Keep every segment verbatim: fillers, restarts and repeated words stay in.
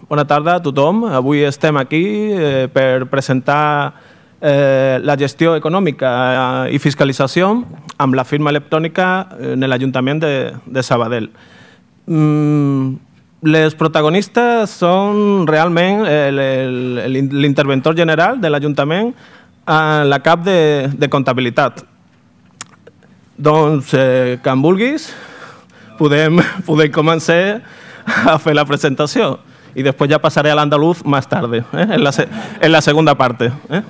bona tarda a tothom. Avui estem aquí eh, per presentar eh, la gestió econòmica i fiscalització amb la firma electrònica en l'Ajuntament de, de Sabadell. Mm, les protagonistes són realment l'interventor general de l'Ajuntament a la cap de, de comptabilitat. Doncs, eh, quan vulguis, podem, podem començar a fer la presentació i després ja passaré a l'andaluz més tard, eh? en, la, en la segunda parte. Eh?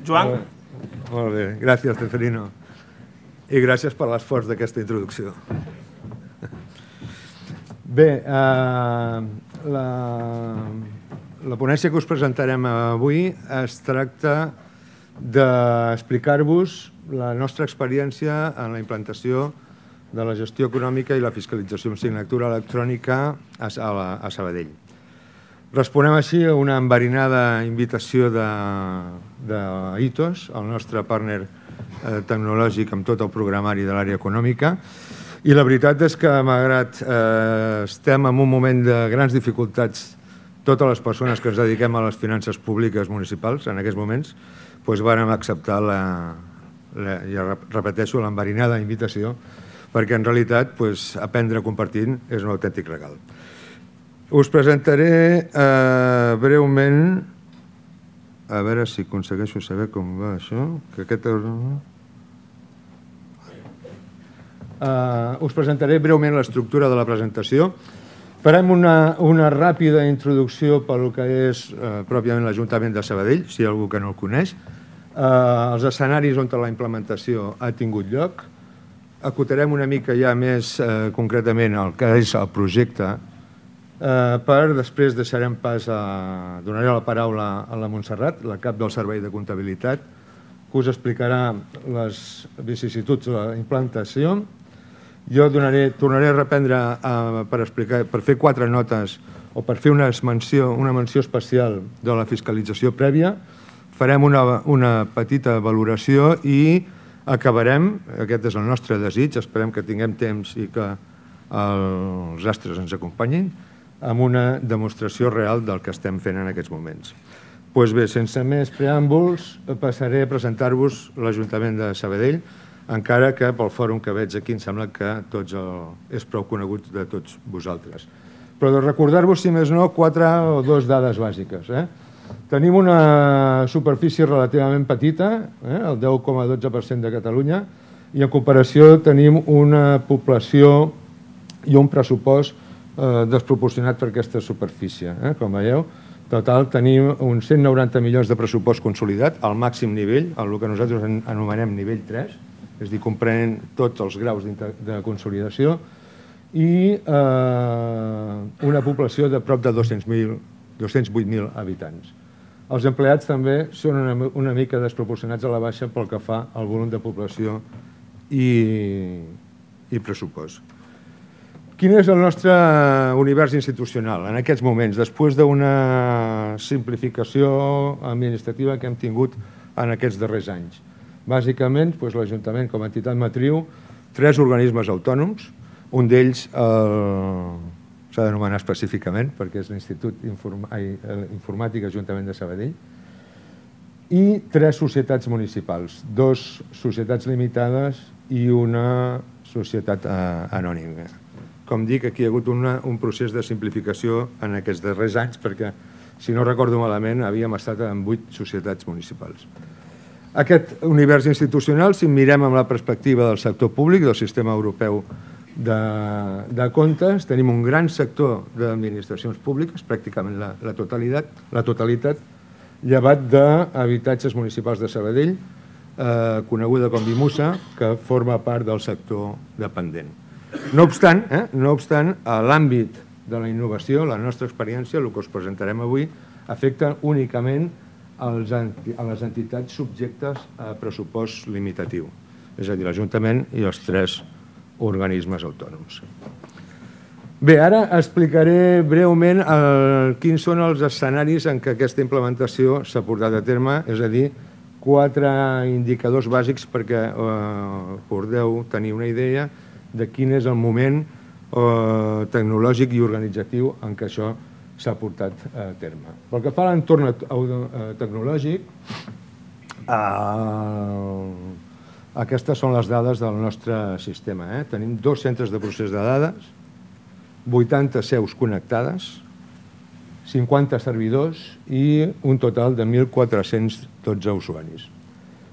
Joan? Molt bé, gràcies, Ceferino. I gràcies per l'esforç d'aquesta introducció. Bé, eh, la, la ponència que us presentarem avui es tracta d'explicar-vos la nostra experiència en la implantació de la gestió econòmica i la fiscalització amb signatura electrònica a, a, a Sabadell. Responem així a una enverinada invitació d'Itos, el nostre partner eh, tecnològic amb tot el programari de l'àrea econòmica, i la veritat és que, malgrat eh, estem en un moment de grans dificultats, totes les persones que ens dediquem a les finances públiques municipals en aquests moments, doncs vàrem acceptar la, la, ja repeteixo, l'enverinada invitació, perquè en realitat doncs, aprendre compartint és un autèntic regal. Us presentaré eh, breument, a veure si aconsegueixo saber com va això, que aquest... Uh, us presentaré breument l'estructura de la presentació. Farem una, una ràpida introducció pel que és uh, pròpiament l'Ajuntament de Sabadell, si hi ha algú que no el coneix, uh, els escenaris on la implementació ha tingut lloc. Acotarem una mica ja més uh, concretament el que és el projecte, uh, per després deixarem pas a... donaré la paraula a la Montserrat, la cap del Servei de Comptabilitat, que us explicarà les vicissituds de la implantació. Jo donaré, tornaré a reprendre uh, per, explicar, per fer quatre notes o per fer una menció, una menció especial de la fiscalització prèvia. Farem una, una petita valoració i acabarem, aquest és el nostre desig, esperem que tinguem temps i que els astres ens acompanyin, amb una demostració real del que estem fent en aquests moments. Doncs bé, sense més preàmbuls, passaré a presentar-vos l'Ajuntament de Sabadell, encara que pel fòrum que veig aquí em sembla que tots el, és prou conegut de tots vosaltres. Però de recordar-vos, si més no, quatre o dues dades bàsiques. Eh? Tenim una superfície relativament petita, eh? el deu coma dotze per cent de Catalunya, i en comparació tenim una població i un pressupost eh, desproporcionat per aquesta superfície. Eh? Com veieu, total tenim uns cent noranta milions de pressupost consolidat, al màxim nivell, el que nosaltres anomenem nivell tres, és a dir, comprenent tots els graus de consolidació, i eh, una població de prop de dos-cents vuit mil habitants. Els empleats també són una, una mica desproporcionats a la baixa pel que fa al volum de població i, i pressupost. Quin és el nostre univers institucional en aquests moments, després d'una simplificació administrativa que hem tingut en aquests darrers anys? Bàsicament, l'Ajuntament com a entitat matriu, tres organismes autònoms, un d'ells s'ha d'anomenar específicament perquè és l'Institut Informàtic Ajuntament de Sabadell, i tres societats municipals, dos societats limitades i una societat anònima. Com dic, aquí hi ha hagut un procés de simplificació en aquests darrers anys perquè, si no recordo malament, havíem estat en vuit societats municipals. Aquest univers institucional, si mirem amb la perspectiva del sector públic, del sistema europeu de, de comptes, tenim un gran sector d'administracions públiques, pràcticament la, la, totalitat, la totalitat, llevat d'habitatges municipals de Sabadell, eh, coneguda com Bimusa, que forma part del sector dependent. No obstant, eh, no obstant, a l'àmbit de la innovació, la nostra experiència, el que us presentarem avui, afecta únicament a les entitats subjectes a pressupost limitatiu, és a dir, l'Ajuntament i els tres organismes autònoms. Bé, ara explicaré breument quins són els escenaris en què aquesta implementació s'ha portat a terme, és a dir, quatre indicadors bàsics perquè podeu tenir una idea de quin és el moment tecnològic i organitzatiu en què això s'ha portat a terme. Pel que fa a l'entorn tecnològic, aquestes són les dades del nostre sistema. Tenim dos centres de procés de dades, vuitanta seus connectades, cinquanta servidors i un total de mil quatre-cents dotze usuaris.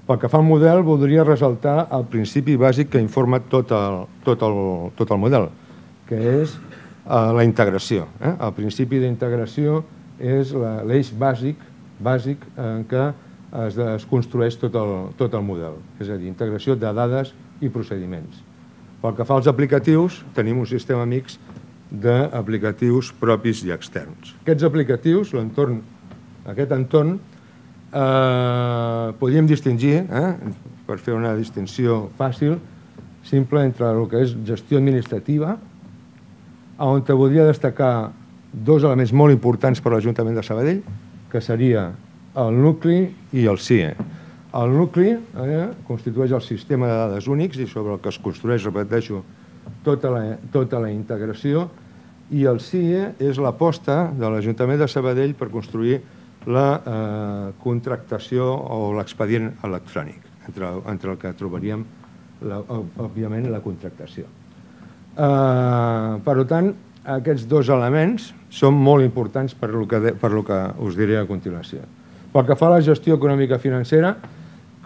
Pel que fa al model, voldria ressaltar el principi bàsic que informa tot el, tot el, tot el model, que és la integració. El principi d'integració és l'eix bàsic, bàsic en què es, es construeix tot el, tot el model, és a dir, integració de dades i procediments. Pel que fa als aplicatius, tenim un sistema mix d'aplicatius propis i externs. Aquests aplicatius, l'entorn, aquest entorn, eh, podríem distingir, eh, per fer una distinció fàcil, simple entre el que és gestió administrativa, on te voldria destacar dos elements molt importants per a l'Ajuntament de Sabadell, que seria el nucli i el C I E. El nucli eh, constitueix el sistema de dades únics i sobre el que es construeix, repeteixo, tota la, tota la integració, i el C I E és l'aposta de l'Ajuntament de Sabadell per construir la eh, contractació o l'expedient electrònic, entre, entre el que trobaríem, la, òbviament, la contractació. Eh, per tant, aquests dos elements són molt importants per lo que, per lo que us diré a continuació. Pel que fa a la gestió econòmica financera,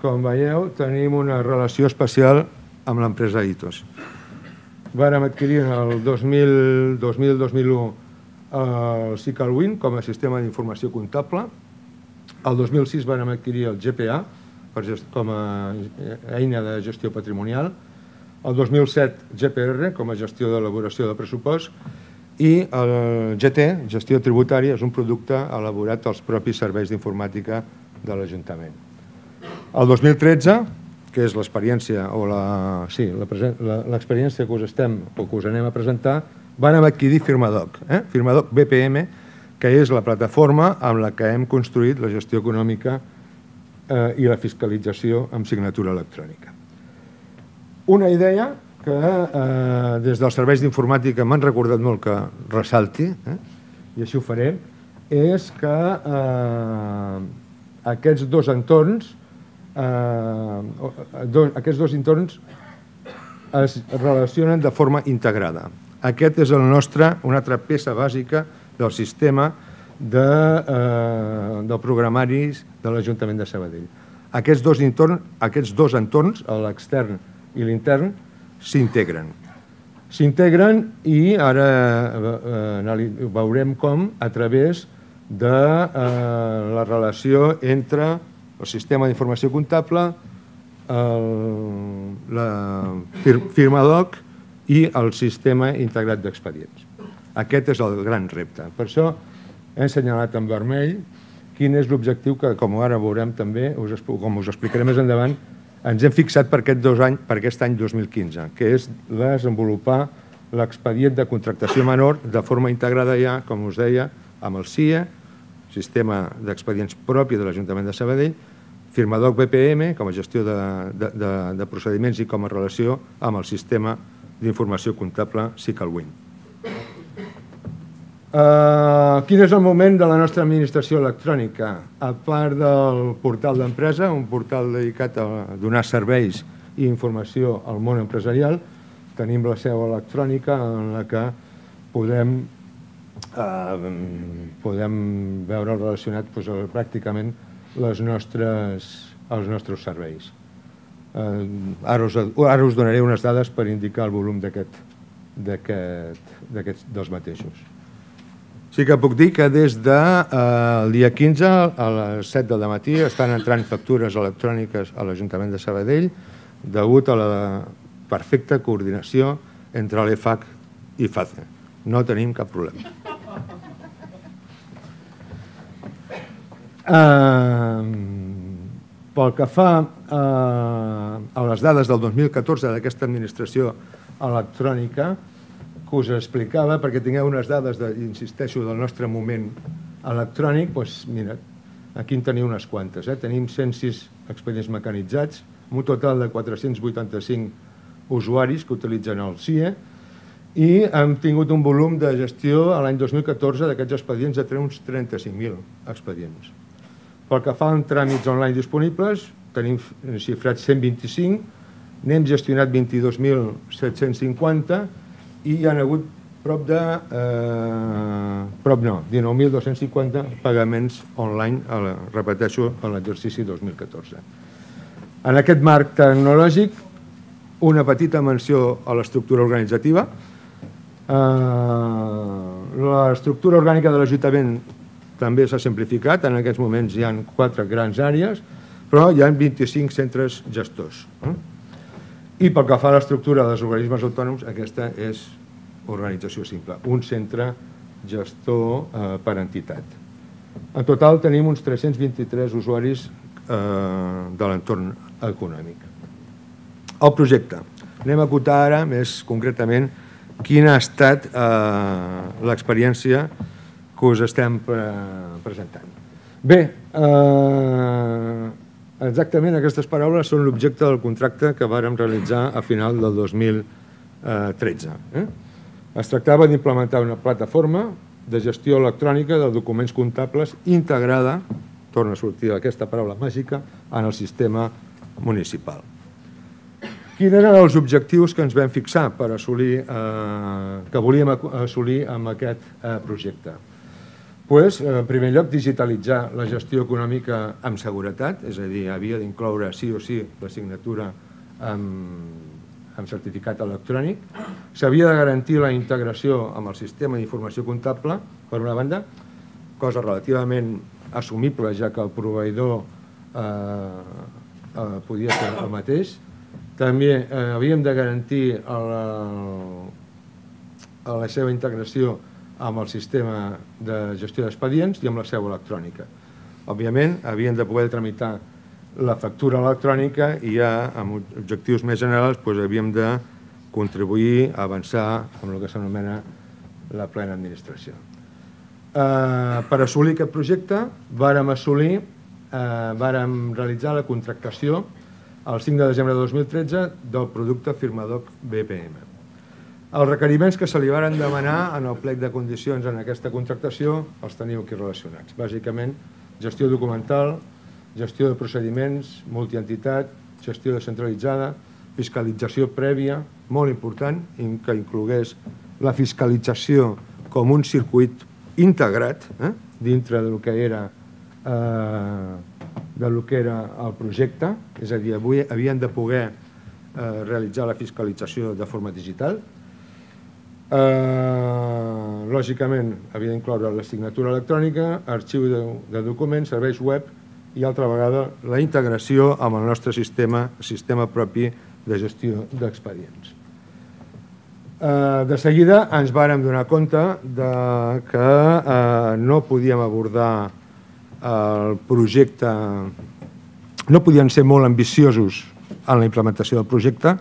com veieu, tenim una relació especial amb l'empresa Itos. Vàrem adquirir el dos mil dos mil u el SicalWin com a sistema d'informació comptable. El dos mil sis vàrem adquirir el G P A com a eina de gestió patrimonial. El dos mil set G P R com a gestió d'elaboració de pressupost. I el G T, gestió tributària, és un producte elaborat als propis serveis d'informàtica de l'Ajuntament. El dos mil tretze, que és l'experiència o la, sí, l'experiència que us estem o que us anem a presentar, vàrem adquirir Firmadoc, eh? Firmadoc B P M, que és la plataforma amb la que hem construït la gestió econòmica eh, i la fiscalització amb signatura electrònica. Una idea que eh, des dels serveis d'informàtica m'han recordat molt que ressalti, eh? I així ho faré, és que eh, aquests dos entorns Uh, do, aquests dos entorns es relacionen de forma integrada. Aquest és el nostre, una altra peça bàsica del sistema de, uh, del programari de l'Ajuntament de Sabadell. Aquests dos, entorn, aquests dos entorns, l'extern i l'intern, s'integren. S'integren i ara uh, veurem com a través de uh, la relació entre el sistema d'informació comptable, el, la Firmadoc i el sistema integrat d'expedients. Aquest és el gran repte. Per això he assenyalat en vermell quin és l'objectiu que, com ara veurem també, us, com us explicaré més endavant, ens hem fixat per aquest, dos any, per aquest any dos mil quinze, que és desenvolupar l'expedient de contractació menor de forma integrada ja, com us deia, amb el C I E, sistema d'expedients propi de l'Ajuntament de Sabadell, Firmadoc B P M com a gestió de, de, de, de procediments i com a relació amb el sistema d'informació comptable SicalWin. Uh, quin és el moment de la nostra administració electrònica? A part del portal d'empresa, un portal dedicat a donar serveis i informació al món empresarial, tenim la seu electrònica en la que podem, uh, podem veure relacionat doncs, pràcticament les nostres, els nostres serveis. Eh, ara, us, ara us donaré unes dades per indicar el volum dels mateixos. Sí que puc dir que des del eh, dia quinze a les set del matí estan entrant factures electròniques a l'Ajuntament de Sabadell degut a la perfecta coordinació entre l'E F A C i FACE. No tenim cap problema. Uh, pel que fa uh, a les dades del dos mil catorze d'aquesta administració electrònica que us explicava, perquè tingueu unes dades, de, insisteixo, del nostre moment electrònic, doncs mira, aquí en teniu unes quantes. Eh? Tenim cent sis expedients mecanitzats, amb un total de quatre-cents vuitanta-cinc usuaris que utilitzen el C I E i hem tingut un volum de gestió a l'any dos mil catorze d'aquests expedients de uns trenta-cinc mil expedients. Pel que fa a tràmits online disponibles, tenim xifrats cent vint-i-cinc, n'hem gestionat vint-i-dos mil set-cents cinquanta i hi ha hagut prop de, eh, prop no, dinou mil dos-cents cinquanta pagaments online, a la, repeteixo, a l'exercici dos mil catorze. En aquest marc tecnològic, una petita menció a l'estructura organitzativa. L'estructura orgànica de l'Ajuntament també s'ha simplificat, en aquests moments hi ha quatre grans àrees, però hi ha vint-i-cinc centres gestors. I pel que fa a l'estructura dels organismes autònoms, aquesta és organització simple, un centre gestor per entitat. En total tenim uns tres-cents vint-i-tres usuaris de l'entorn econòmic. El projecte. Anem a acotar ara més concretament quina ha estat l'experiència que us estem presentant. Bé, exactament aquestes paraules són l'objecte del contracte que vàrem realitzar a final del dos mil tretze. Es tractava d'implementar una plataforma de gestió electrònica de documents comptables integrada, torna a sortir aquesta paraula màgica, en el sistema municipal. Quins eren els objectius que ens vam fixar per assolir, que volíem assolir amb aquest projecte? En primer lloc, digitalitzar la gestió econòmica amb seguretat, és a dir, havia d'incloure sí o sí la signatura amb certificat electrònic. S'havia de garantir la integració amb el sistema d'informació comptable, per una banda, cosa relativament assumible, ja que el proveïdor podia ser el mateix. També havíem de garantir la seva integració amb el sistema de gestió d'expedients i amb la seu electrònica. Òbviament, havíem de poder tramitar la factura electrònica i ja, amb objectius més generals, havíem de contribuir a avançar amb el que s'anomena la plena administració. Per assolir aquest projecte, vàrem assolir, vàrem realitzar la contractació el cinc de desembre de dos mil tretze del producte Firmadoc B P M. Els requeriments que se li varen demanar en el plec de condicions en aquesta contractació els teniu aquí relacionats. Bàsicament, gestió documental, gestió de procediments, multientitat, gestió descentralitzada, fiscalització prèvia, molt important, que inclogués la fiscalització com un circuit integrat dintre del que era del que era el projecte, és a dir, avui havien de poder realitzar la fiscalització de forma digital. Lògicament, havia d'incloure la signatura electrònica, arxiu de documents, serveis web i, altra vegada, la integració amb el nostre sistema, sistema propi de gestió d'expedients. De seguida ens vàrem donar compte que no podíem abordar el projecte, no podien ser molt ambiciosos en la implementació del projecte,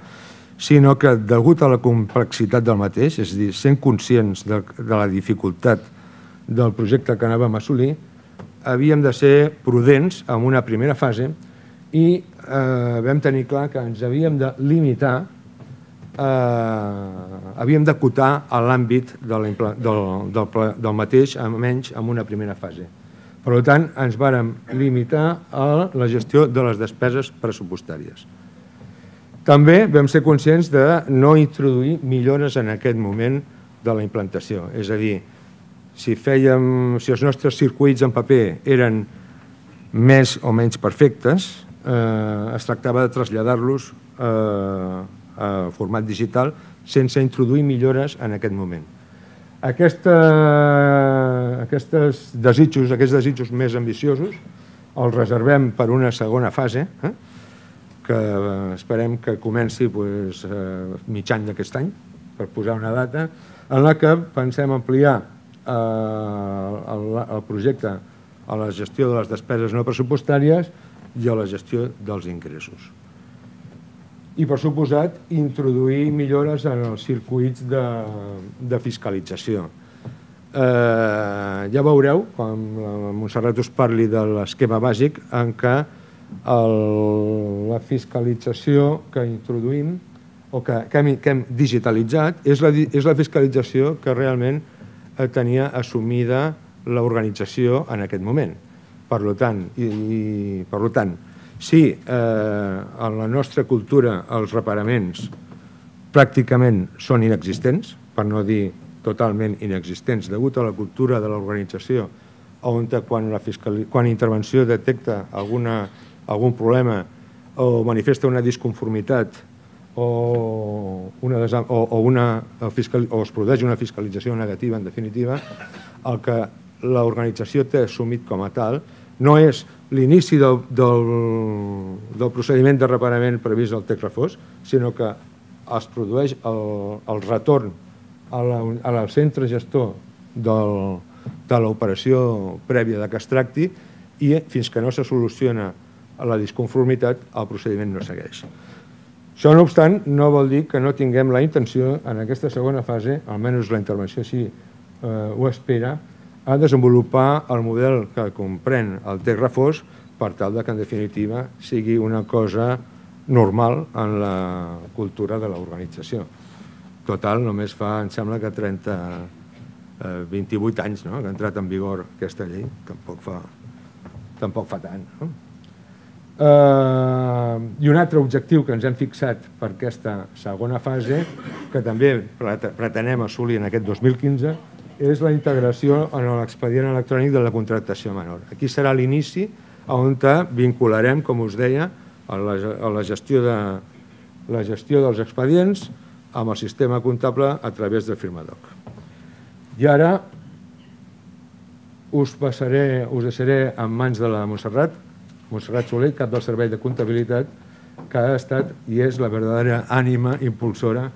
sinó que, degut a la complexitat del mateix, és a dir, sent conscients de la dificultat del projecte que anàvem a assolir, havíem de ser prudents en una primera fase i vam tenir clar que ens havíem de limitar, havíem d'acotar l'àmbit del mateix, almenys en una primera fase. Per tant, ens vàrem limitar a la gestió de les despeses pressupostàries. També vam ser conscients de no introduir millores en aquest moment de la implantació. És a dir, si els nostres circuits en paper eren més o menys perfectes, es tractava de traslladar-los a format digital sense introduir millores en aquest moment. Aquests desitjos, aquests desitjos més ambiciosos els reservem per una segona fase, que esperem que comenci mitjan d'aquest any, per posar una data, en la que pensem ampliar el projecte a la gestió de les despeses no pressupostàries i a la gestió dels ingressos. I, per suposat, introduir millores en els circuits de fiscalització. Ja veureu, quan la Montserrat us parli de l'esquema bàsic, en què la fiscalització que introduïm o que hem digitalitzat és la fiscalització que realment tenia assumida l'organització en aquest moment. Per tant, si en la nostra cultura els reparaments pràcticament són inexistents, per no dir totalment inexistents, degut a la cultura de l'organització, on quan intervenció detecta algun problema o manifesta una disconformitat o es produeix una fiscalització negativa, en definitiva, el que l'organització té assumit com a tal no és l'inici del procediment de reparament previst al text refós, sinó que es produeix el retorn al centre gestor de l'operació prèvia que es tracti i fins que no se soluciona la disconformitat el procediment no segueix. Això, no obstant, no vol dir que no tinguem la intenció en aquesta segona fase, almenys la intervenció així ho espera, a desenvolupar el model que comprèn el text refós per tal que, en definitiva, sigui una cosa normal en la cultura de l'organització. Total, només fa, em sembla que trenta, vint-i-vuit anys que ha entrat en vigor aquesta llei, tampoc fa tant. I un altre objectiu que ens hem fixat per aquesta segona fase, que també pretenem assolir en aquest dos mil quinze, és la integració en l'expedient electrònic de la contractació menor. Aquí serà l'inici on vincularem, com us deia, la gestió dels expedients amb el sistema comptable a través del Firmadoc. I ara us deixaré en mans de la Montserrat, Montserrat Soler, cap del Servei de Comptabilitat, que ha estat i és la verdadera ànima impulsora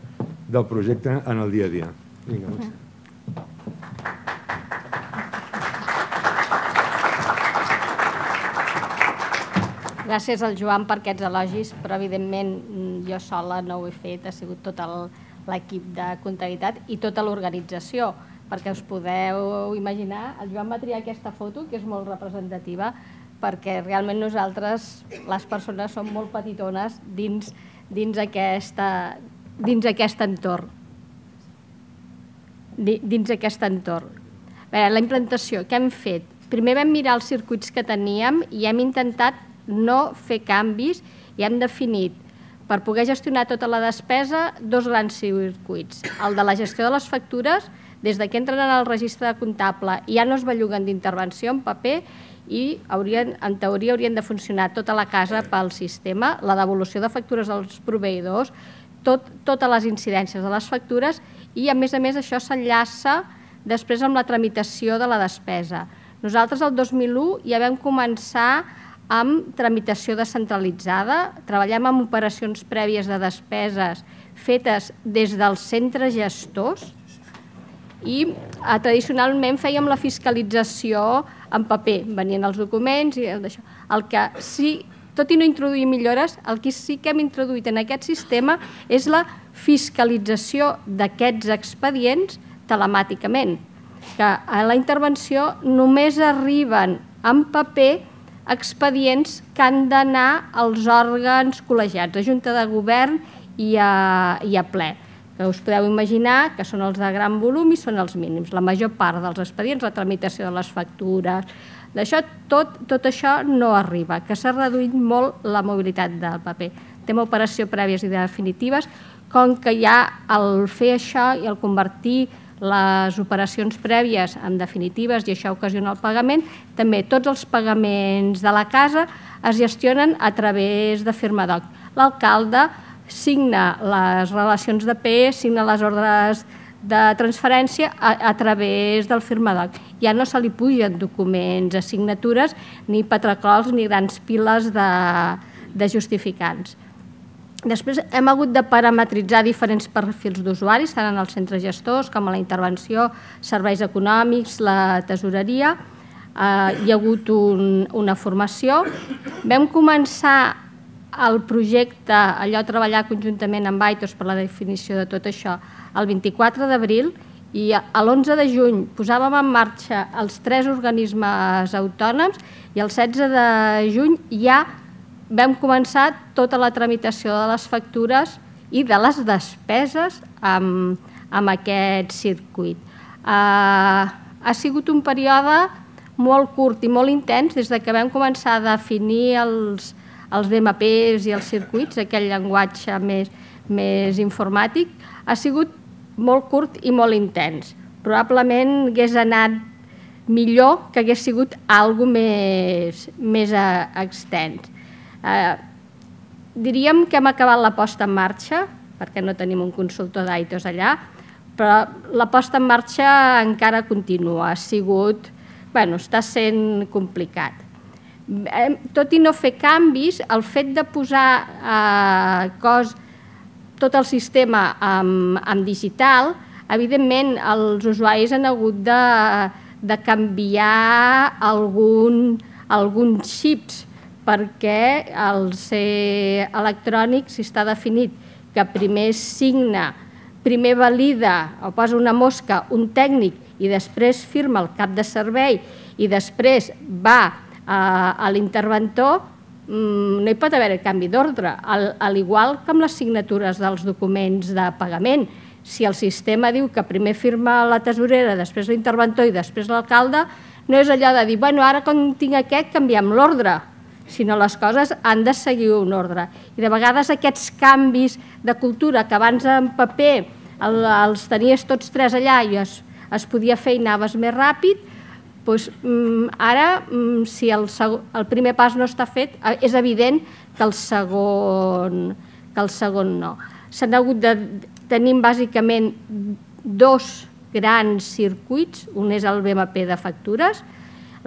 del projecte en el dia a dia. Vinga, Montserrat. Gràcies al Joan per aquests elogis, però evidentment jo sola no ho he fet, ha sigut tot l'equip de comptabilitat i tota l'organització, perquè us podeu imaginar, el Joan va triar aquesta foto, que és molt representativa, perquè realment nosaltres, les persones, som molt petitones dins aquest entorn. Dins aquest entorn. La implantació, què hem fet? Primer vam mirar els circuits que teníem i hem intentat no fer canvis i hem definit, per poder gestionar tota la despesa, dos grans circuits. El de la gestió de les factures, des que entren en el registre comptable i ja no es belluguen d'intervenció en paper i en teoria haurien de funcionar tota la casa pel sistema, la devolució de factures als proveïdors, totes les incidències de les factures i a més a més això s'enllaça després amb la tramitació de la despesa. Nosaltres el dos mil u ja vam començar amb tramitació descentralitzada, treballem amb operacions prèvies de despeses fetes des dels centres gestors i tradicionalment fèiem la fiscalització en paper, venien els documents i d'això. El que sí, tot i no introduir millores, el que sí que hem introduït en aquest sistema és la fiscalització d'aquests expedients telemàticament, que a la intervenció només arriben en paper expedients que han d'anar als òrgans col·legiats, a Junta de Govern i a ple, que us podeu imaginar que són els de gran volum i són els mínims. La major part dels expedients, la tramitació de les factures, tot això no arriba, que s'ha reduït molt la mobilitat del paper. Tema operació prèvies i definitives, com que ja al fer això i al convertir les operacions prèvies en definitives i això ocasiona el pagament, també tots els pagaments de la casa es gestionen a través de Firmadoc. L'alcalde signa les relacions de P E, signa les ordres de transferència a través del Firmadoc. Ja no se li pugen documents, assignatures, ni patracols ni grans piles de justificants. Després hem hagut de parametritzar diferents perfils d'usuaris, tant en els centres gestors com a la intervenció, serveis econòmics, la tesoreria. Hi ha hagut una formació. Vam començar el projecte, allò treballar conjuntament amb Aitos per la definició de tot això, el vint-i-quatre d'abril i l'onze de juny posàvem en marxa els tres organismes autònoms i el setze de juny ja vam començar tota la tramitació de les factures i de les despeses amb, amb aquest circuit. Uh, ha sigut un període molt curt i molt intens des de que vam començar a definir els, els D M Ps i els circuits, aquell llenguatge més, més informàtic. Ha sigut molt curt i molt intens. Probablement hagués anat millor que hagués sigut alguna cosa més, més extens. Eh, diríem que hem acabat la posta en marxa, perquè no tenim un consultor d'A I T O S allà, però la posta en marxa encara continua. Ha sigut, bueno, està sent complicat. Tot i no fer canvis, el fet de posar eh, cos, tot el sistema en, en digital, evidentment els usuaris han hagut de, de canviar algun, alguns xips, perquè al ser electrònic, si està definit que primer signa, primer valida o posa una mosca un tècnic i després firma el cap de servei i després va a l'interventor, no hi pot haver canvi d'ordre, al igual que amb les signatures dels documents de pagament. Si el sistema diu que primer firma la tesorera, després l'interventor i després l'alcalde, no és allò de dir, bueno, ara quan tinc aquest canviem l'ordre, sinó les coses han de seguir un ordre. I de vegades aquests canvis de cultura que abans en paper els tenies tots tres allà i es, es podia fer i anaves més ràpid, doncs ara, si el, el primer pas no està fet, és evident que el segon, que el segon no. S'han hagut de tenir bàsicament dos grans circuits, un és el B M P de factures,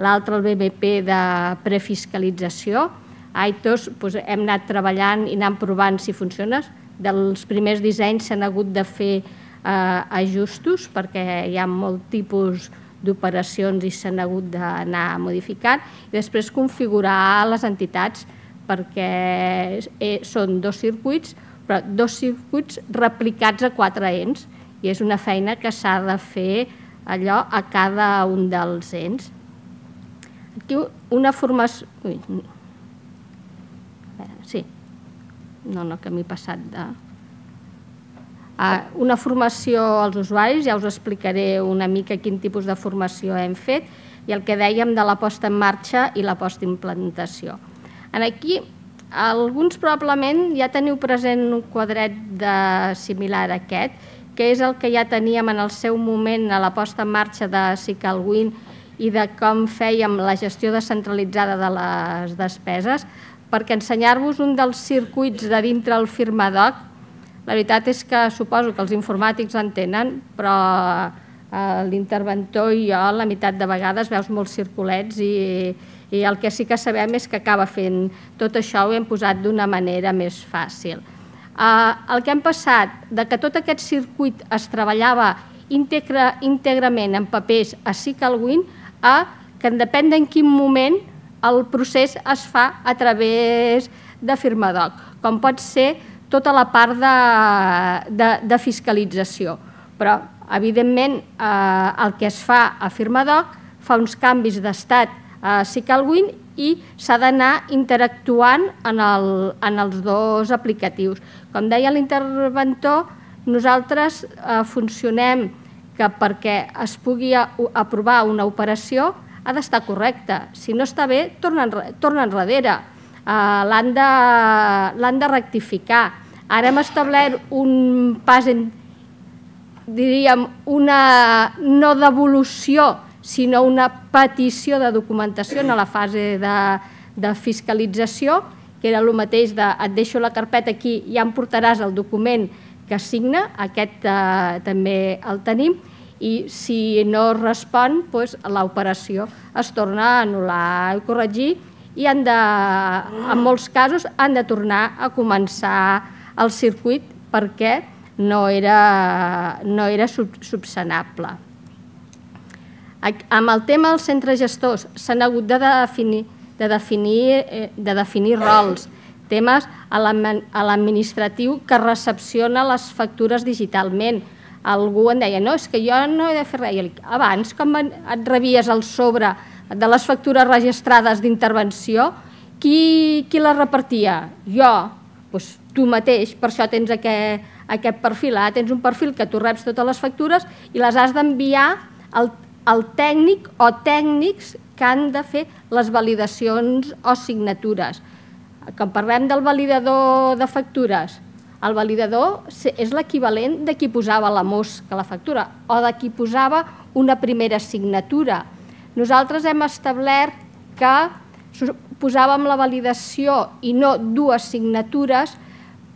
l'altre el B M P de prefiscalització. A I T O S hem anat treballant i anant provant si funciona. Dels primers dissenys s'han hagut de fer ajustos perquè hi ha molt tipus d'operacions i s'han hagut d'anar modificant i després configurar les entitats perquè són dos circuits, però dos circuits replicats a quatre ens i és una feina que s'ha de fer allò a cada un dels ens. Aquí una formació... Ui. Sí. No, no, que m'he passat de... Una formació als usuaris, ja us explicaré una mica quin tipus de formació hem fet i el que dèiem de la posta en marxa i la posta implantació. Aquí, alguns probablement ja teniu present un quadret similar a aquest, que és el que ja teníem en el seu moment a la posta en marxa de SicalWin i de com fèiem la gestió descentralitzada de les despeses, perquè ensenyar-vos un dels circuits de dintre el Firmadoc, la veritat és que suposo que els informàtics en tenen, però l'interventor i jo la meitat de vegades veus molts circulets i el que sí que sabem és que acaba fent tot això ho hem posat d'una manera més fàcil. El que hem passat de que tot aquest circuit es treballava íntegrament en papers a SicalWin a que depèn en quin moment el procés es fa a través de Firmadoc, com pot ser tota la part de fiscalització. Però, evidentment, el que es fa a Firmadoc fa uns canvis d'estat a SicalWin i s'ha d'anar interactuant en els dos aplicatius. Com deia l'interventor, nosaltres funcionem que perquè es pugui aprovar una operació ha d'estar correcta. Si no està bé, torna enrere. L'han de rectificar. Ara hem establert un pas, diríem, una no devolució, sinó una petició de documentació en la fase de fiscalització, que era el mateix de et deixo la carpeta aquí i ja em portaràs el document que signa, aquest també el tenim, i si no respon, l'operació es torna a anul·lar i corregir i en molts casos han de tornar a començar el circuit perquè no era subsanable. Amb el tema dels centres gestors s'han hagut de definir rols, temes a l'administratiu que recepciona les factures digitalment. Algú em deia, no, és que jo no he de fer res. Abans, com et rebies el sobre de les factures registrades d'intervenció, qui les repartia? Jo. Doncs tu mateix, per això tens aquest, aquest perfil. Ara tens un perfil que tu reps totes les factures i les has d'enviar al, al tècnic o tècnics que han de fer les validacions o signatures. Quan parlem del validador de factures, el validador és l'equivalent de qui posava la mosca a la factura o de qui posava una primera signatura. Nosaltres hem establert que posàvem la validació i no dues signatures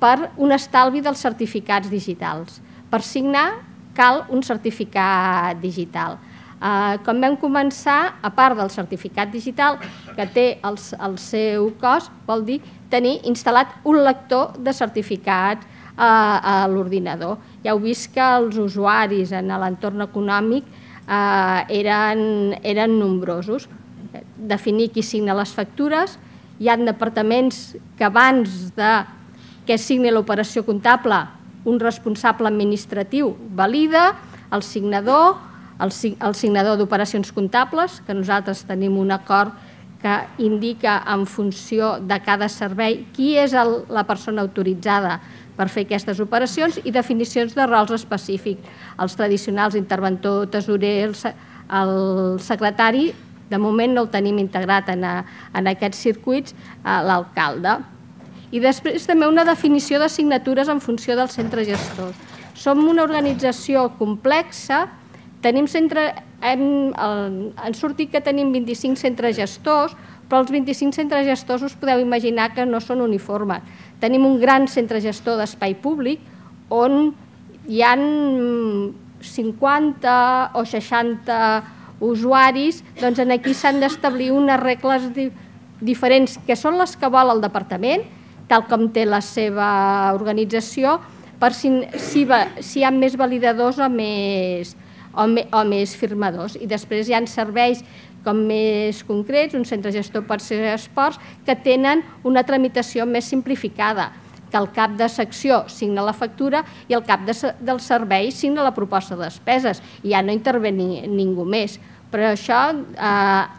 per un estalvi dels certificats digitals. Per signar cal un certificat digital. Quan vam començar, a part del certificat digital, que té el seu cost, vol dir tenir instal·lat un lector de certificats a l'ordinador. Ja heu vist que els usuaris en l'entorn econòmic eren nombrosos. Definir qui signa les factures. Hi ha departaments que abans que signi l'operació comptable un responsable administratiu valida, el signador, el signador d'operacions comptables, que nosaltres tenim un acord que indica en funció de cada servei qui és la persona autoritzada per fer aquestes operacions i definicions de rols específics. Els tradicionals, interventor, tesorer, el secretari, de moment no el tenim integrat en aquests circuits, l'alcalde. I després també una definició de signatures en funció del centre gestor. Som una organització complexa, tenim centre, han sortit que tenim vint-i-cinc centres gestors, però els vint-i-cinc centres gestors us podeu imaginar que no són uniformes. Tenim un gran centre gestor d'espai públic on hi ha cinquanta o seixanta usuaris, doncs aquí s'han d'establir unes regles diferents que són les que vol el departament, tal com té la seva organització, per si hi ha més validadors o més o més firmadors. I després hi ha serveis com més concrets, un centre gestor pot ser esports, que tenen una tramitació més simplificada, que el cap de secció signa la factura i el cap del servei signa la proposta de despeses. I ja no intervé ningú més. Però això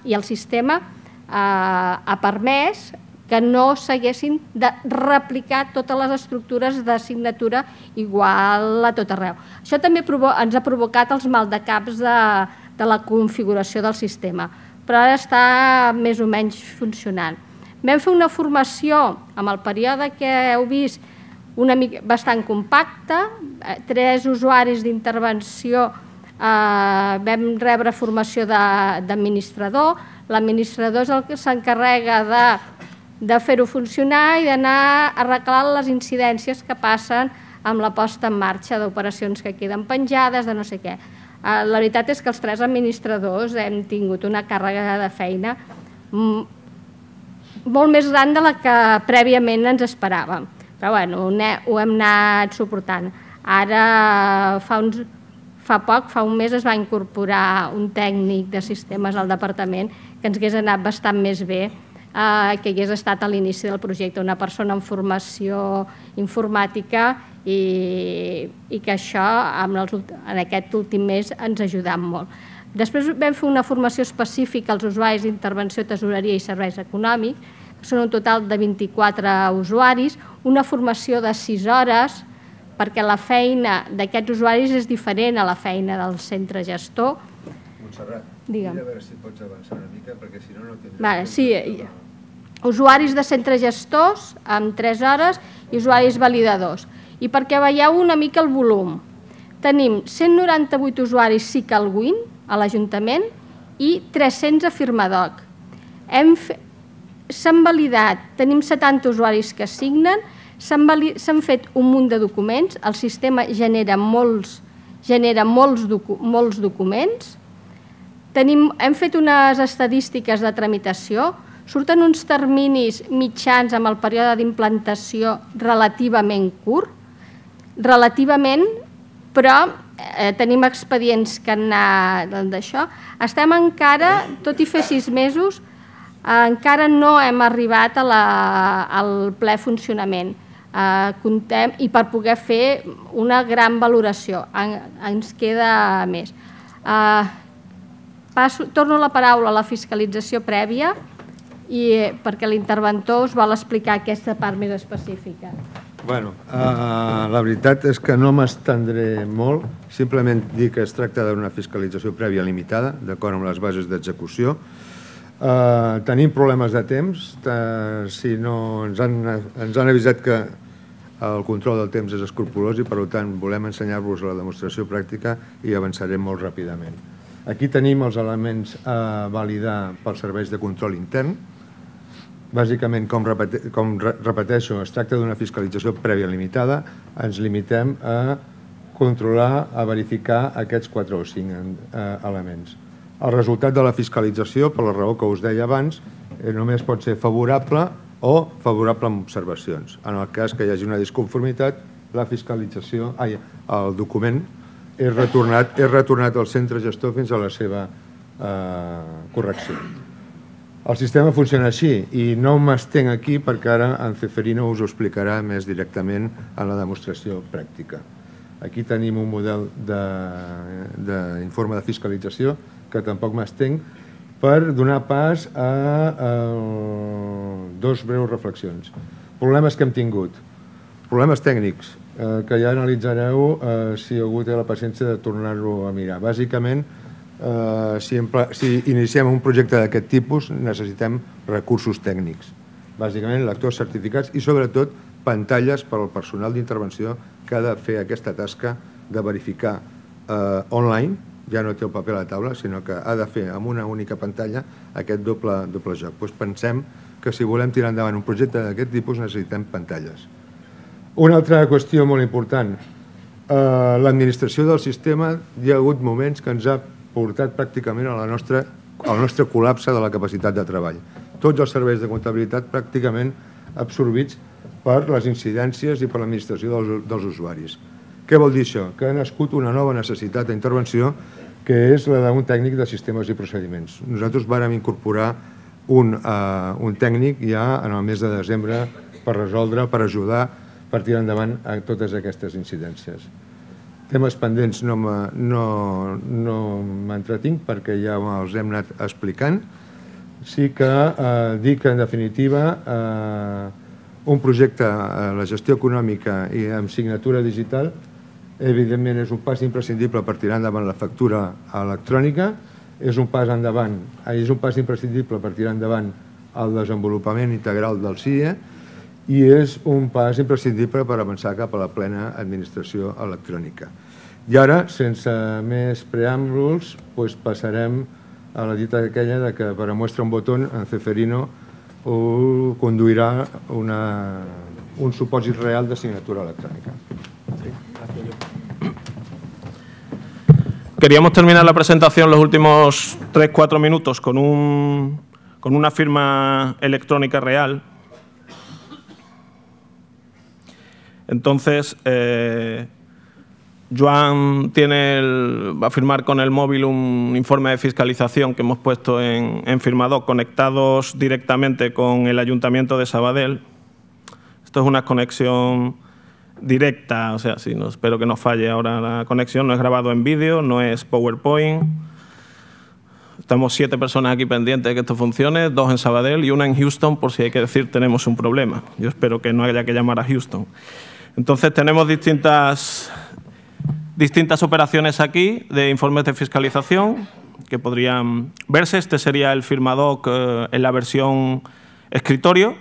i el sistema ha permès que no s'haguessin de replicar totes les estructures de signatura igual a tot arreu. Això també ens ha provocat els maldecaps de la configuració del sistema, però ara està més o menys funcionant. Vam fer una formació amb el període que heu vist bastant compacte, tres usuaris d'intervenció, vam rebre formació d'administrador, l'administrador és el que s'encarrega de de fer-ho funcionar i d'anar arreglant les incidències que passen amb la posta en marxa d'operacions que queden penjades, de no sé què. La veritat és que els tres administradors hem tingut una càrrega de feina molt més gran de la que prèviament ens esperàvem. Però bueno, ho hem anat suportant. Ara, fa poc, fa un mes, es va incorporar un tècnic de sistemes al departament que ens hagués anat bastant més bé que hagués estat a l'inici del projecte, una persona en formació informàtica i que això en aquest últim mes ens ha ajudat molt. Després vam fer una formació específica als usuaris d'intervenció, tesoreria i serveis econòmics, que són un total de vint-i-quatre usuaris, una formació de sis hores, perquè la feina d'aquests usuaris és diferent a la feina del centre gestor. Montserrat, mira a veure si pots avançar una mica, perquè si no no tindrem... Sí, usuaris de centres gestors amb tres hores i usuaris validadors. I perquè veieu una mica el volum, tenim cent noranta-vuit usuaris SICALWIN a l'Ajuntament i tres-cents a Firmadoc. S'han validat, tenim setanta usuaris que signen, s'han fet un munt de documents, el sistema genera molts documents, hem fet unes estadístiques de tramitació, surten uns terminis mitjans amb el període d'implantació relativament curt, relativament, però tenim expedients que han anat d'això. Estem encara, tot i fer sis mesos, encara no hem arribat al ple funcionament i per poder fer una gran valoració. Ens queda més. Torno la paraula a la fiscalització prèvia perquè l'interventor us vol explicar aquesta part més específica. Bueno, uh, la veritat és que no m'estendré molt, simplement dir que es tracta d'una fiscalització prèvia limitada, d'acord amb les bases d'execució. Uh, tenim problemes de temps, uh, si no, ens han, ens han avisat que el control del temps és escrupolós i per tant volem ensenyar-vos la demostració pràctica i avançarem molt ràpidament. Aquí tenim els elements a validar pels serveis de control intern. Bàsicament, com, repete, com repeteixo, es tracta d'una fiscalització prèvia limitada, ens limitem a controlar, a verificar aquests quatre o cinc eh, elements. El resultat de la fiscalització, per la raó que us deia abans, eh, només pot ser favorable o favorable amb observacions. En el cas que hi hagi una disconformitat, la fiscalització, ai, el document és retornat, és retornat al centre gestor fins a la seva eh, correcció. El sistema funciona així i no m'estenc aquí perquè ara en Ceferino us ho explicarà més directament en la demostració pràctica. Aquí tenim un model d'informe de, de fiscalització que tampoc m'estenc per donar pas a, a dos breus reflexions. Problemes que hem tingut. Problemes tècnics eh, que ja analitzareu eh, si algú té la paciència de tornar-lo a mirar. Bàsicament, Uh, si, si iniciem un projecte d'aquest tipus necessitem recursos tècnics, bàsicament lectors certificats i sobretot pantalles per al personal d'intervenció que ha de fer aquesta tasca de verificar uh, online, ja no té el paper a la taula, sinó que ha de fer amb una única pantalla aquest doble, doble joc. Doncs pensem que si volem tirar endavant un projecte d'aquest tipus necessitem pantalles. Una altra qüestió molt important, uh, l'administració del sistema, hi ha hagut moments que ens ha portat pràcticament a la nostra, al nostre col·lapse de la capacitat de treball. Tots els serveis de comptabilitat pràcticament absorbits per les incidències i per l'administració dels, dels usuaris. Què vol dir això? Que ha nascut una nova necessitat d'intervenció que és la d'un tècnic de sistemes i procediments. Nosaltres vàrem incorporar un, uh, un tècnic ja en el mes de desembre per resoldre, per ajudar, per tirar endavant a totes aquestes incidències. Temes pendents no m'entretinc no, no perquè ja els hem anat explicant. Sí que eh, dic que, en definitiva, eh, un projecte, eh, la gestió econòmica i amb signatura digital, evidentment és un pas imprescindible per tirar endavant la factura electrònica, és un pas endavant, és un pas imprescindible per tirar endavant el desenvolupament integral del C I E i és un pas imprescindible per avançar cap a la plena administració electrònica. I ara, sense més preàmbuls, doncs passarem a la dita aquella de que per a muestra un botó en Ceferino ho conduirà una, un supòsit real de signatura electrònica. Queríamos terminar la presentación los últimos tres cuatro minutos con, un, con una firma electrónica real. Entonces, eh, Joan tiene el, va a firmar con el móvil un informe de fiscalización que hemos puesto en, en Firmadoc, conectados directamente con el Ayuntamiento de Sabadell. Esto es una conexión directa, o sea, sí, no, espero que no falle ahora la conexión. No es grabado en vídeo, no es PowerPoint. Estamos siete personas aquí pendientes de que esto funcione, dos en Sabadell y una en Houston, por si hay que decir tenemos un problema. Yo espero que no haya que llamar a Houston. Entonces tenemos distintas, distintas operaciones aquí de informes de fiscalización que podrían verse. Este sería el Firmadoc eh, en la versión escritorio,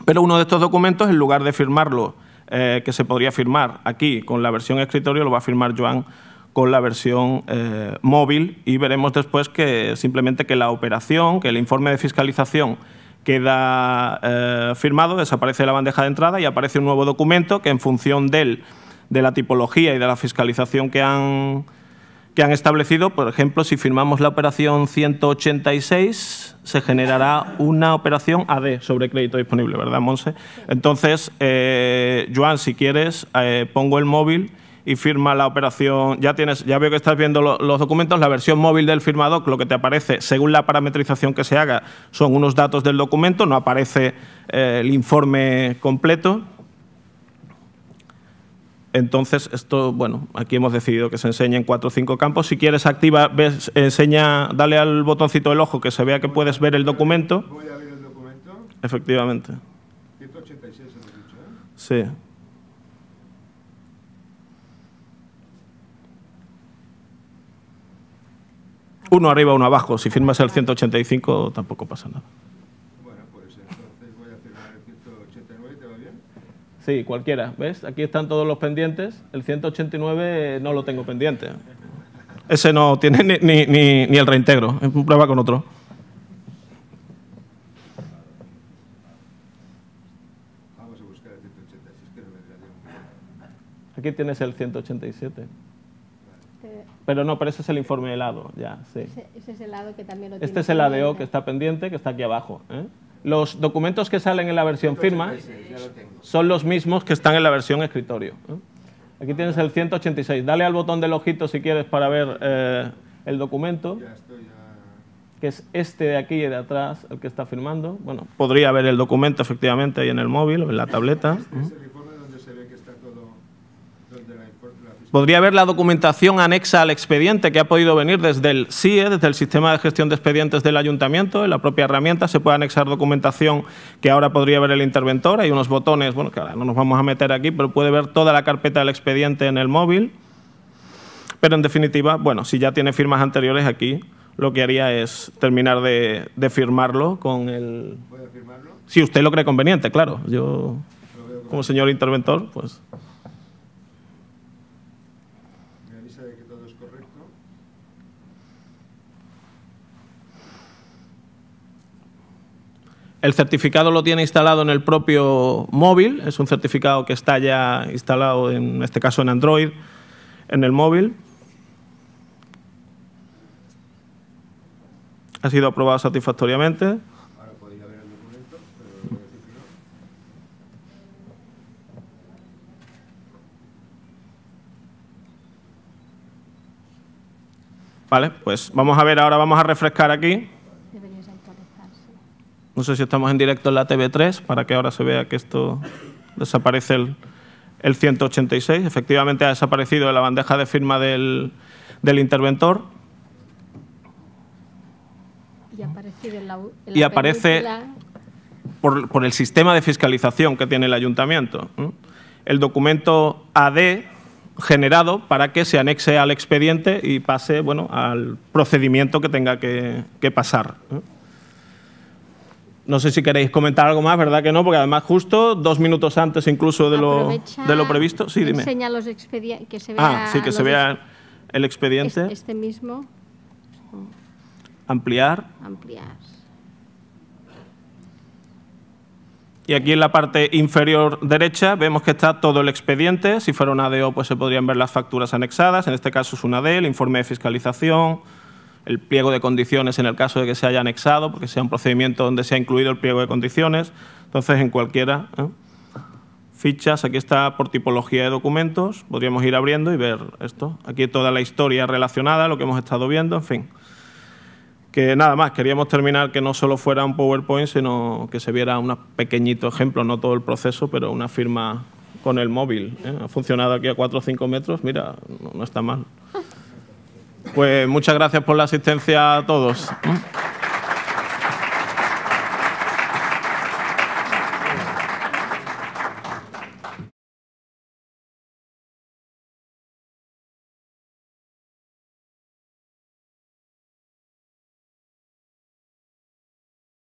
pero uno de estos documentos, en lugar de firmarlo, eh, que se podría firmar aquí con la versión escritorio, lo va a firmar Joan con la versión eh, móvil, y veremos después que simplemente que la operación, que el informe de fiscalización queda eh, firmado, desaparece de la bandeja de entrada y aparece un nuevo documento que, en función del, de la tipología y de la fiscalización que han, que han establecido, por ejemplo, si firmamos la operación ciento ochenta y seis, se generará una operación A D sobre crédito disponible, ¿verdad, Monse? Entonces, eh, Joan, si quieres, eh, pongo el móvil y firma la operación. Ya tienes, ya veo que estás viendo lo, los documentos. La versión móvil del Firmadoc, lo que te aparece, según la parametrización que se haga, son unos datos del documento, no aparece eh, el informe completo. Entonces, esto, bueno, aquí hemos decidido que se enseñe en cuatro o cinco campos. Si quieres, activa, ves, enseña, dale al botoncito del ojo que se vea que puedes ver el documento. Voy a ver el documento. Efectivamente. ciento ochenta y seis, hemos dicho, ¿eh? Sí. Uno arriba, uno abajo. Si firmas el ciento ochenta y cinco tampoco pasa nada. Bueno, pues entonces voy a firmar el ciento ochenta y nueve, ¿te va bien? Sí, cualquiera. ¿Ves? Aquí están todos los pendientes. El ciento ochenta y nueve no lo tengo pendiente. Ese no tiene ni, ni, ni, ni el reintegro. Prueba con otro. Vamos a buscar el ciento ochenta, si es que no vendrá bien. Aquí tienes el ciento ochenta y siete. Pero no, pero ese es el informe helado, ya, sí. Ese, ese es el lado que también lo Este tiene es el A D O pendiente. que está pendiente, que está aquí abajo. ¿eh? Los documentos que salen en la versión firma son los mismos que están en la versión escritorio. ¿eh? Aquí tienes el ciento ochenta y seis. Dale al botón del ojito si quieres para ver eh, el documento, Ya estoy, ya... que es este de aquí y de atrás, el que está firmando. Bueno, podría ver el documento efectivamente ahí en el móvil o en la tableta. Este es el informe donde se ve que está todo... Donde la, la... Podría ver la documentación anexa al expediente que ha podido venir desde el S I E, desde el Sistema de Gestión de Expedientes del Ayuntamiento. En la propia herramienta se puede anexar documentación que ahora podría ver el interventor. Hay unos botones, bueno, que ahora no nos vamos a meter aquí, pero puede ver toda la carpeta del expediente en el móvil. Pero en definitiva, bueno, si ya tiene firmas anteriores aquí, lo que haría es terminar de, de firmarlo con el... ¿Puedo firmarlo? Si usted lo cree conveniente, claro. Yo, como señor interventor, pues... Me avisa de que todo es correcto. El certificado lo tiene instalado en el propio móvil. Es un certificado que está ya instalado, en este caso en Android, en el móvil. Ha sido aprobado satisfactoriamente. Ahora podría ver el documento, pero voy a decir que no. Vale, pues vamos a ver, ahora vamos a refrescar aquí. Deberías actualizarse. No sé si estamos en directo en la T V tres, para que ahora se vea que esto desaparece el, el ciento ochenta y seis. Efectivamente ha desaparecido de la bandeja de firma del, del interventor. Y ha aparecido en la, en Y la aparece película. por, por el sistema de fiscalización que tiene el ayuntamiento. ¿eh? El documento A D generado para que se anexe al expediente y pase, bueno, al procedimiento que tenga que, que pasar. ¿eh? No sé si queréis comentar algo más, ¿verdad que no? Porque además justo dos minutos antes incluso de lo, Aprovecha, de lo previsto. Sí, dime. Enseña los expedientes, que se vea... Ah, sí, que se los vea el expediente. Este, este mismo, Ampliar. ampliar. Y aquí en la parte inferior derecha vemos que está todo el expediente. Si fuera un A D O, pues se podrían ver las facturas anexadas. En este caso es un A D, el informe de fiscalización, el pliego de condiciones en el caso de que se haya anexado, porque sea un procedimiento donde se ha incluido el pliego de condiciones. Entonces, en cualquiera. ¿eh? Fichas, aquí está por tipología de documentos. Podríamos ir abriendo y ver esto. Aquí toda la historia relacionada, lo que hemos estado viendo, en fin. Que nada más, queríamos terminar que no solo fuera un PowerPoint, sino que se viera un pequeñito ejemplo, no todo el proceso, pero una firma con el móvil. ¿eh? Ha funcionado aquí a cuatro o cinco metros, mira, no, no está mal. Pues muchas gracias por la asistencia a todos.